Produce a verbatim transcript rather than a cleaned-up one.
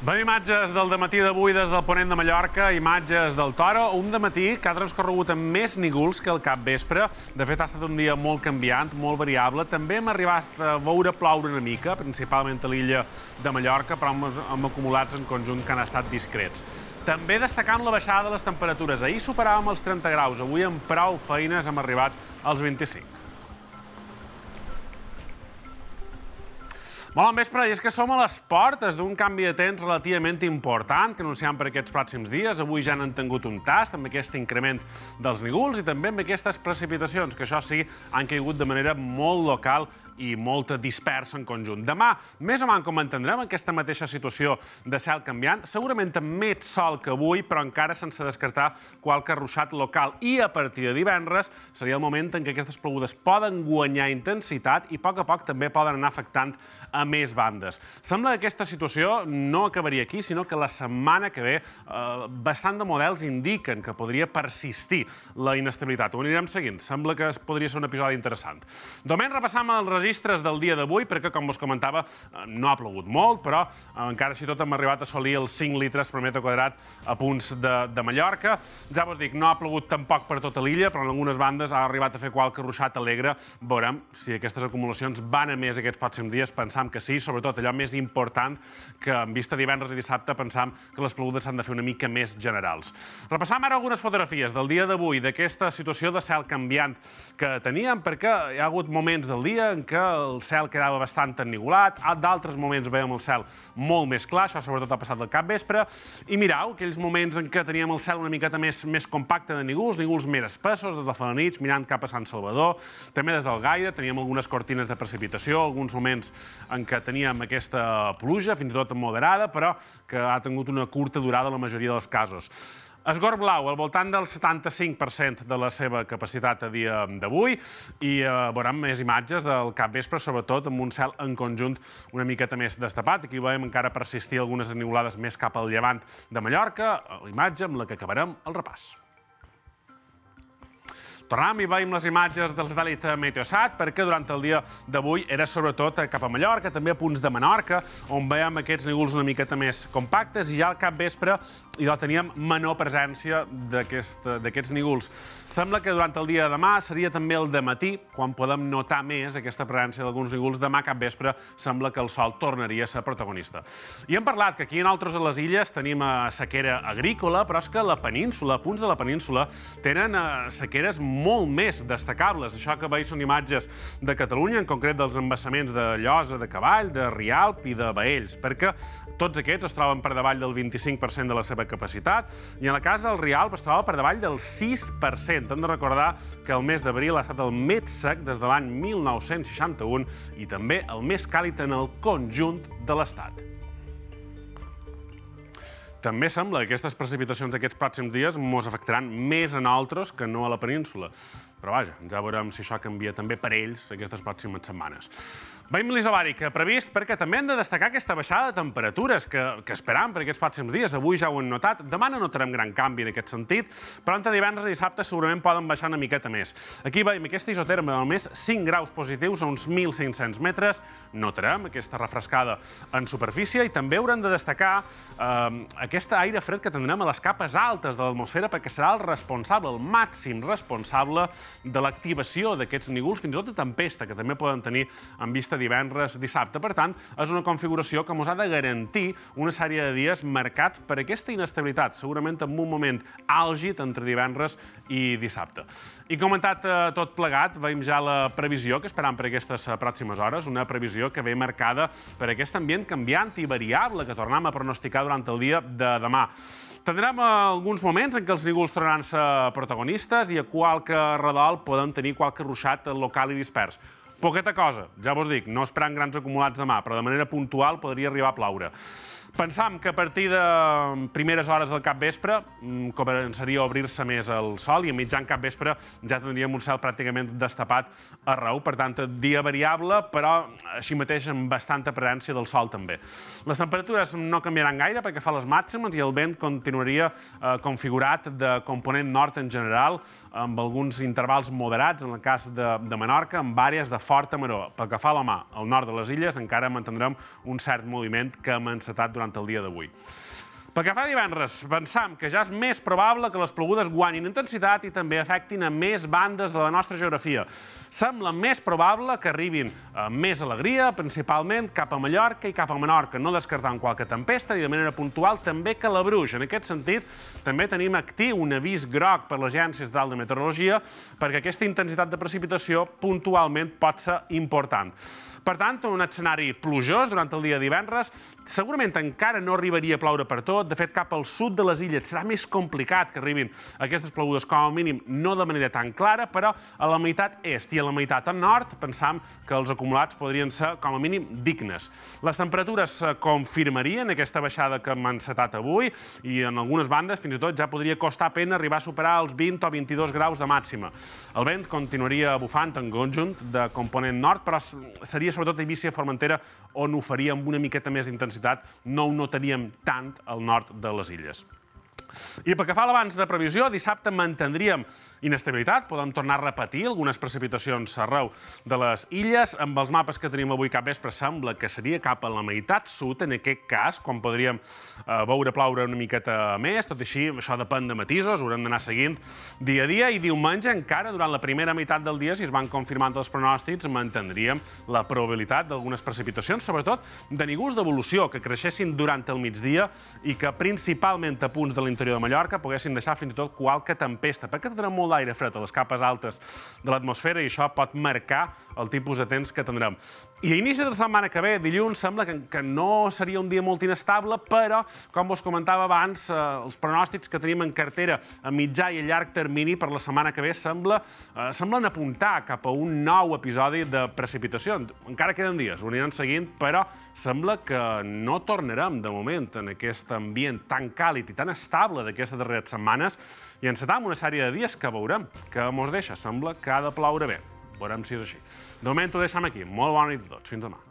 Veiem imatges del dematí d'avui des del ponent de Mallorca, imatges del Toro, un dematí que ha transcorregut amb més nígols que el capvespre. De fet, ha estat un dia molt canviant, molt variable. També hem arribat a veure ploure una mica, principalment a l'illa de Mallorca, però amb acumulats en conjunt que han estat discrets. També destacant la baixada de les temperatures. Ahir superàvem els trenta graus, avui amb prou feines hem arribat als vint-i-cinc. Molt bon vespre, i és que som a les portes d'un canvi de temps relativament important que anunciam per aquests pròxims dies. Avui ja n'han tingut un tast amb aquest increment dels nígols i també amb aquestes precipitacions, que això sí, han caigut de manera molt local i molt dispersa en conjunt. Demà, més o menys com entendrem, aquesta mateixa situació de cel canviant, segurament amb més sol que avui, però encara sense descartar qualque ruixat local. I a partir de divendres seria el moment en què aquestes plogudes poden guanyar intensitat i a poc a poc també poden anar afectant a més bandes. Sembla que aquesta situació no acabaria aquí, sinó que la setmana que ve eh, bastant de models indiquen que podria persistir la inestabilitat. Ho anirem seguint. Sembla que podria ser un episodi interessant. De moment repassam els registres del dia d'avui, perquè, com us comentava, no ha plogut molt, però encara així tot hem arribat a assolir els cinc litres per metre quadrat a punts de, de Mallorca. Ja vos dic, no ha plogut tampoc per tota l'illa, però en algunes bandes ha arribat a fer qualque ruixat alegre. Veurem si aquestes acumulacions van a més aquests pròxims dies. Pensam que sí, sobretot allò més important, que en vista divendres i dissabte pensam que les plogudes s'han de fer una mica més generals. Repassam ara algunes fotografies del dia d'avui, d'aquesta situació de cel canviant que teníem, perquè hi ha hagut moments del dia en què el cel quedava bastant ennigolat, d'altres moments veiem el cel molt més clar, això sobretot ha passat al capvespre, i mirau, aquells moments en què teníem el cel una miqueta més, més compacte de nígols, nígols més espessos, des de fa la nit, mirant cap a Sant Salvador, també des del Gaire, teníem algunes cortines de precipitació, alguns moments en què teníem aquesta pluja, fins i tot moderada, però que ha tingut una curta durada en la majoria dels casos. Esgor blau, al voltant del setanta-cinc per cent de la seva capacitat a dia d'avui, i veurem més imatges del capvespre, sobretot amb un cel en conjunt una miqueta més destapat. Aquí veiem encara persistir algunes enivolades més cap al llevant de Mallorca, la imatge amb la que acabarem el repàs. Tornem i veiem les imatges del satèl·lit Meteosat, perquè durant el dia d'avui era sobretot cap a Mallorca, també a punts de Menorca, on veiem aquests nígols una miqueta més compactes, i ja al capvespre ja teníem menor presència d'aquests nígols. Sembla que durant el dia de demà seria també el dematí, quan podem notar més aquesta presència d'alguns nígols. Demà capvespre sembla que el sol tornaria a ser protagonista. I hem parlat que aquí en altres a les illes tenim sequera agrícola, però és que la península, a punts de la península, tenen sequeres molt més destacables. Això que veus són imatges de Catalunya, en concret dels embassaments de Llosa, de Cavall, de Rialp i de Baells, perquè tots aquests es troben per davall del vint-i-cinc per cent de la seva capacitat, i en el cas del Rialp es troba per davall del sis per cent. Hem de recordar que el mes d'abril ha estat el més sec des de l'any mil nou-cents seixanta-u i també el més càlid en el conjunt de l'Estat. També sembla que aquestes precipitacions d'aquests pròxims dies ens afectaran més a nosaltres que no a la península. Però vaja, ja veurem si això canvia també per ells aquestes pròximes setmanes. Veiem l'isobàric previst, perquè també hem de destacar aquesta baixada de temperatures que esperam per aquests pròxims dies. Avui ja ho hem notat, demà no notarem gran canvi en aquest sentit, però entre divendres i dissabte segurament poden baixar una miqueta més. Aquí veiem aquesta isoterma de només cinc graus positius a uns mil cinc-cents metres. Notarem aquesta refrescada en superfície i també haurem de destacar aquest aire fred que tindrem a les capes altes de l'atmosfera, perquè serà el responsable, el màxim responsable de l'activació d'aquests nígols, fins i tot de tempesta, que també poden tenir en vista divendres, dissabte. Per tant, és una configuració que ens ha de garantir una sèrie de dies marcats per aquesta inestabilitat, segurament en un moment àlgid entre divendres i dissabte. I comentat tot plegat, veiem ja la previsió que esperam per aquestes pròximes hores, una previsió que ve marcada per aquest ambient canviant i variable que tornem a pronosticar durant el dia de demà. Tindrem alguns moments en què els nígols tornaran a ser protagonistes i a qualque redol podem tenir qualque ruixat local i dispers. Poqueta cosa, ja vos dic, no esperant grans acumulats demà, però de manera puntual podria arribar a ploure. Pensam que a partir de primeres hores del capvespre començaria a obrir-se més el sol i a mitjan capvespre ja tindríem un cel pràcticament destapat arreu. Per tant, dia variable, però així mateix amb bastanta presència del sol també. Les temperatures no canviaran gaire perquè fa les màximes i el vent continuaria configurat de component nord en general, amb alguns intervals moderats, en el cas de Menorca, amb àrees de forta maror. Pel que fa a la mà, al nord de les illes encara mantindrem un cert moviment que hem encetat durant el dia d'avui. Pel que fa a divendres, pensam que ja és més probable que les plogudes guanyin intensitat i també afectin a més bandes de la nostra geografia. Sembla més probable que arribin amb més alegria, principalment cap a Mallorca i cap a Menorca, no descartant qualque tempesta i de manera puntual també Calabruix. En aquest sentit, també tenim actiu un avís groc per l'Agència Estatal de Meteorologia perquè aquesta intensitat de precipitació puntualment pot ser important. Per tant, un escenari plujós durant el dia de divendres. Segurament encara no arribaria a ploure per tot. De fet, cap al sud de les illes serà més complicat que arribin aquestes plogudes, com a mínim no de manera tan clara, però a la meitat est i a la meitat al nord pensam que els acumulats podrien ser, com a mínim, dignes. Les temperatures confirmarien aquesta baixada que hem encetat avui i en algunes bandes fins i tot ja podria costar pena arribar a superar els vint o vint-i-dos graus de màxima. El vent continuaria bufant en conjunt de component nord, però seria sobretot a Eivissa i Formentera, on ho faria amb una miqueta més d'intensitat, no ho notaríem tant al nord de les illes. I pel que fa a l'abans de previsió, dissabte mantindríem inestabilitat, podem tornar a repetir algunes precipitacions arreu de les illes. Amb els mapes que tenim avui cap vespre sembla que seria cap a la meitat sud, en aquest cas, quan podríem veure ploure una miqueta més. Tot i així, això depèn de matisos, haurem d'anar seguint dia a dia. I diumenge, encara, durant la primera meitat del dia, si es van confirmant els pronòstics, mantindríem la probabilitat d'algunes precipitacions, sobretot de nígols d'evolució, que creixessin durant el migdia i que principalment a punts de l'interior de Mallorca poguessin deixar fins i tot qualque tempesta, perquè tindrem molt d'aire fred a les capes altes de l'atmosfera i això pot marcar el tipus de temps que tindrem. I a inici de la setmana que ve, dilluns, sembla que, que no seria un dia molt inestable, però, com vos comentava abans, eh, els pronòstics que tenim en cartera a mitjà i a llarg termini per la setmana que ve sembla, eh, semblen apuntar cap a un nou episodi de precipitació. Encara queden dies, ho aniran seguint, però sembla que no tornarem, de moment, en aquest ambient tan càlid i tan estable d'aquestes darreres setmanes i encetam una sèrie de dies que veurem, que mos deixa. Sembla que ha de ploure bé. Veurem si és així. De moment ho deixem aquí. Molt bona nit a tots. Fins demà.